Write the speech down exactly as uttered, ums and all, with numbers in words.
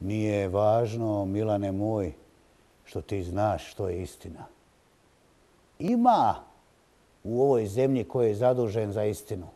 Nije važno, Milane moj, što ti znaš što je istina. Ima u ovoj zemlji ko je zadužen za istinu.